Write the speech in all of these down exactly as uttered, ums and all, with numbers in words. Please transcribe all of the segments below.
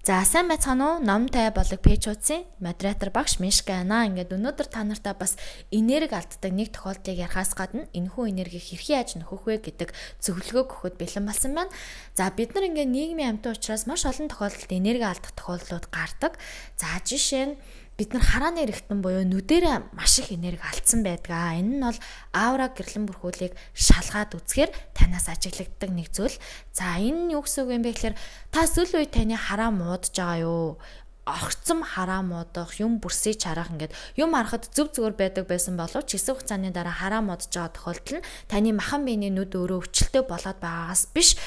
За сайн байцгаана уу? Номтой болог пэйж хуудсын модератор багш Мишка байна. Ингээд өнөөдөр та нартай бас энерги алддаг нэг тохиолдлыг ярихаас гадна энэхүү энергийг хэрхэн яаж нөхөх вэ гэдэг зөвлөгөө өгөхөд бэлэн болсон байна. За бид нар ингээд нийгмийн амьтан учраас маш олон тохиолдолд энерги алдах тохиолдлууд гардаг. За жишээ нь бид нар харааны эргэтэн буюу нүдэрээ маш их энерги алдсан байдаг. Энэ нь бол аура гэрлэн бүрхүүлийг шалгаад үзэхээр танаас ажиглагддаг нэг зүйл. За энэ нь юу гэсэн үг юм бэ гэхээр та сүүл үе таны хараа муудаж байгаа юу? Огцом хараа муудах, юм бүрсэж харах ингээд юм харахад зөв зүгээр байдаг байсан боловч хэсэг хугацааны дараа хараа муудаж байгаа тохиолдол нь таны махан биений нүд өөрөө өвчлөлтөө болоод байгаагаас биш,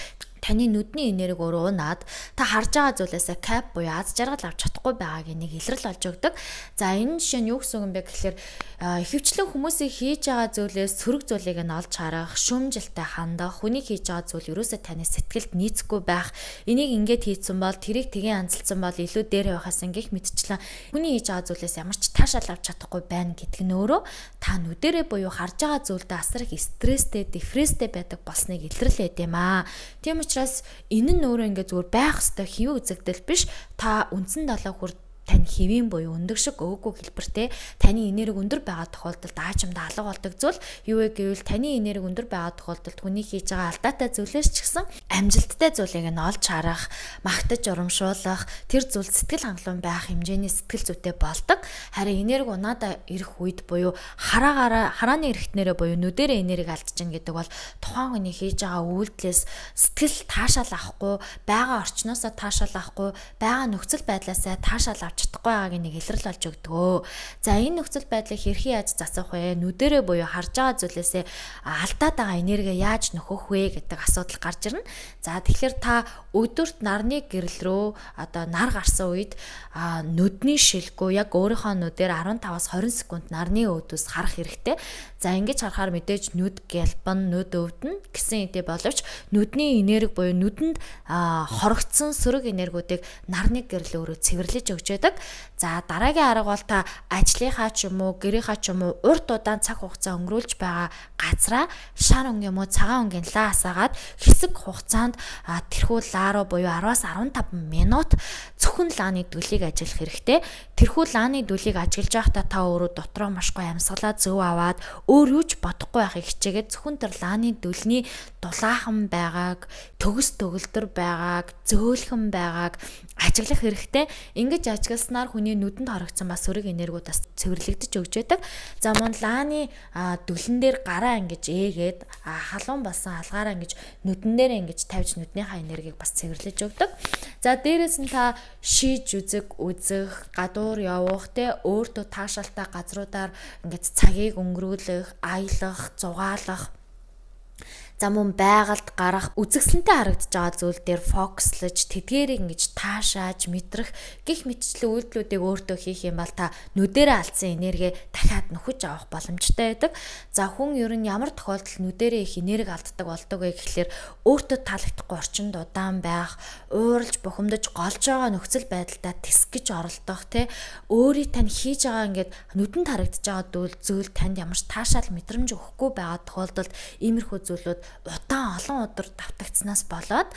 таны нүдний энерги өөрөө унаад та харж байгаа зүйлээсээ кап буюу аз жаргал авч чадахгүй байгааг нэг илрэл олж өгдөг. За энэ жишээ нь юу гэсэн юм бэ гэхээр ихэвчлэн хүмүүсийн хийж байгаа зүйлээс сөрөг зүйлийг нь олж харах, шүмжилтэй хандах, хүний хийж байгаа зүйл ерөөсөө таны сэтгэлд нийцэхгүй байх. Энийг ингээд хийцэн бол тэрийг тгий анзалсан бол илүү дээр байхаас ингэх мэдчлэн хүний хийж байгаа зүйлээс ямар ч таашаал авч чадахгүй байна гэдэг нь өөрөө та нүдэрээ буюу харж байгаа зүйлдээ асар их стресстэй, депресстэй байдаг болсныг илрэл байд юм аа. Тийм учраас энэ нь өөрөө ингээд зүгээр байх ёстой хэвэн үзэгдэл биш. Та үндсэн далаа хүр тань хэвийн буюу өндөр шиг өөгүй хэлбэртэй таны энерги өндөр байгаа тохиолдолд аажимдаа алга болдог зүйл юу вэ гэвэл таны энерги өндөр байгаа тохиолдолд хүний хийж байгаа алдаатай зүйлээс ч гэсэн амжилттай зүйлийг нь олж харах, магтаж урамшуулах, тэр зүйл сэтгэл хангалуун байх хэмжээний сэтгэл зүйтэй болдог. Харин энерги унаадаа ирэх үед буюу хараагаараа харааны эргэтнэрээ буюу нүдэрээ энерги алдаж гин гэдэг бол тухайн хүний хийж байгаа үйлдэлээс сэтгэл таашаал авахгүй, байгаа орчноосоо таашаал авахгүй, байгаа нөхцөл байдлаасаа таашаал авч чадахгүй байгааг нэг илрэл олж өгдөгөө. За энэ нөхцөл байдлыг хэрхэн яаж засах вэ? Нүдэрээ буюу харж байгаа зүйлээсээ алдаад байгаа энерги яаж нөхөх вэ гэдэг асуудал гарч ирнэ. За тэгэхээр та өдөрт нарны гэрэл рүү одоо нар гарсан үед нүдний шилгүү яг өөрийнхөө нүдээр арван таваас хорин секунд нарны өөдөөс харах хэрэгтэй. За ингэж харахаар мэдээж нүд гялбан, нүд өвдөн гэсэн үгтэй боловч нүдний энерги буюу нүдэнд хорогдсон сөрөг энергиудыг нарны гэрэл өөрөө цэвэрлэж өгч байдаг. За дараагийн арга бол та ажлынхаа ч юм уу, гэрийнхаа ч юм уу урт удаан цаг хугацаа өнгөрүүлж байгаа газраа шар өнг юм уу цагаан өнгийн лаа асаагаад хэсэг хугацаанд тэрхүү лаа руу буюу араваас арван таван минут зөвхөн лааны дүлийг ажиглах хэрэгтэй. Тэрхүү лааны дүлийг ажиглаж байхдаа та өөрөө дотроо маш гоё амьсгалаа зөв аваад өөр юу ч бодохгүй байхыг хичээгээд зөвхөн тэр лааны дүлний дулаахан байгааг, төгс төгөлдөр байгааг, зөөлхөн байгааг ажиглах хэрэгтэй. Ингэж ажигласнаар хүний нүдэнд харагдсан бас сөрөг энергиуд бас цэвэрлэгдэж өгч байдаг. За мөн лааны дүлэн дээр гараа ингэж ээгээд халуун болсон алгаараа ингэж нүдэн дээр ингэж тавьж нүднийхаа энергийг бас цэвэрлэж өгдөг. За дээрээс нь та шийж үзэг, үзэх, гадуур явах, тэ өөртөө таашаалтай газруудаар ингэж цагийг өнгөрүүлэх, аялах, зугаалах, за мөн байгальд гарах, үзэгсэлэнтэй харагдаж байгаа зүйл дээр фокуслаж, тэдгээрийг ингэж таашааж, мэдрэх гих мэтчлэн үйлдэлүүдийг өөртөө хийх юм бол та нүдэрээ алдсан энерги дахиад нөхөж авах боломжтой байдаг. За хүн ер нь ямар тохиолдолд нүдэрээ их энерги алддаг болдог вэ гэхлээр өөртөө таалагдахгүй орчинд удаан байх, ууралж бухимдаж голж байгаа нөхцөл байдалтай тэсгэж оролдох, тэ өөрийг тань хийж байгаа ингээд нүдэнд харагдаж байгаа зүйл танд ямар ч таашаал мэдрэмж өгөхгүй байгаа тохиолдолд иймэрхүү зүйлүүд удаан олон өдөр давтагдсанаас болоод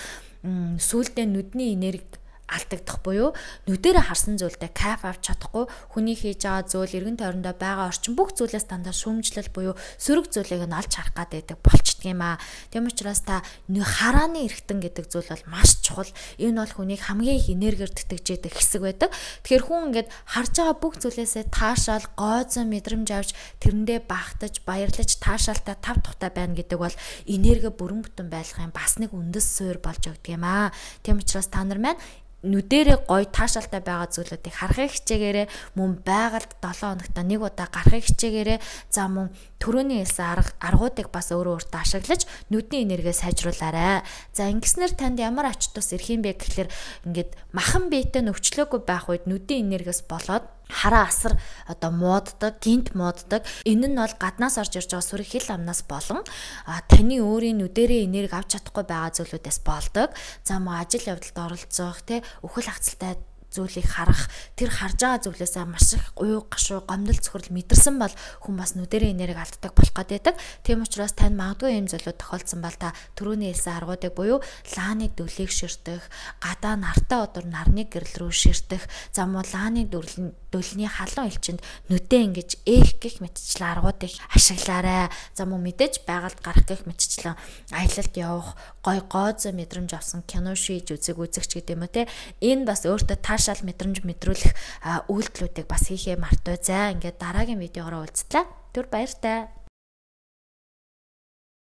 сүүлдээ нүдний энерги алдагдах буюу нүдэрээ харсан зүйлдээ кайф авч чадахгүй, хүний хийж байгаа зүйл, эргэн тойрондоо байгаа орчин бүх зүйлээс дандаа шүүмжлэл буюу сөрөг зүйлийг нь олж харах гад байдаг болчдөг юм аа. Тийм учраас та харааны эргэтэн гэдэг зүйл бол маш чухал. Энэ бол хүнийг хамгийн их энергиэр тэтгэж яадаг хэсэг байдаг. Тэгэхээр хүн ингээд харж байгаа бүх зүйлээсээ таашаал, гойзон мэдрэмж авч тэрэндээ багтаж, баярлаж, таашаалтай тав тухтай байна гэдэг бол энерги бүрэн бүтэн байлгахын бас нэг үндэс суурь болж өгдөг юм аа. Тийм учраас та нар маань нүдэрээ гоё таашаалтай байгаа зүйлүүдийг харахыг хичээгээрээ, мөн байгальд долоон хоногт нэг удаа гарахыг хичээгээрээ, за мөн төрөний хэлсэн арга аргуудыг бас өөрөө өөртөө ашиглаж нүдний энергээ сайжруулаарай. За ингэснээр танд ямар ач тус ирэх юм бэ гэхэлэр ингээд махан биетэй нөхчлөөгүй байх үед нүдний энергиэс болоод хараа асар одоо мууддаг, гинт мууддаг. Энэ нь бол гаднаас орж ирж байгаа сүрэг хил амнаас болон таны өөрийн нүдэрээ энерги авч чадахгүй байгаа зүйлүүдээс болдог. За мөн ажил явдалд оролцох, тэ үхэл хацалтай зүйлийг харах, тэр харж байгаа зүйлээсээ маш их уй гашуу гомдол цохрол мэдэрсэн бол хүн бас нүдэрийн энерги алддаг болох гэдэг. Тийм учраас тань магадгүй юм зүйлүүд тохиолдсон бол та түрүүний хэлсэн аргуудыг буюу лааны дөлийг ширтэх, гадаа нартаа өдөр нарны гэрэл рүү ширтэх, за муу лааны дөлний халуун элчинд нүдээ ингэж ээх гэх мэтчлэн аргуудыг ашиглаарай. За муу мэдээж байгальд гарах гэх мэтчлэн аялалд явах, гой гооз мэдрэмж авсан кино шийж үзэг үзэгч гэдэг юм уу те. Энэ бас өөртөө таашаал мэдрэмж мэдрүүлэх үйлдэлүүдийг бас хийхээ мартаа. За ингээд дараагийн видеогоор уулзлаа. Түр баяртай.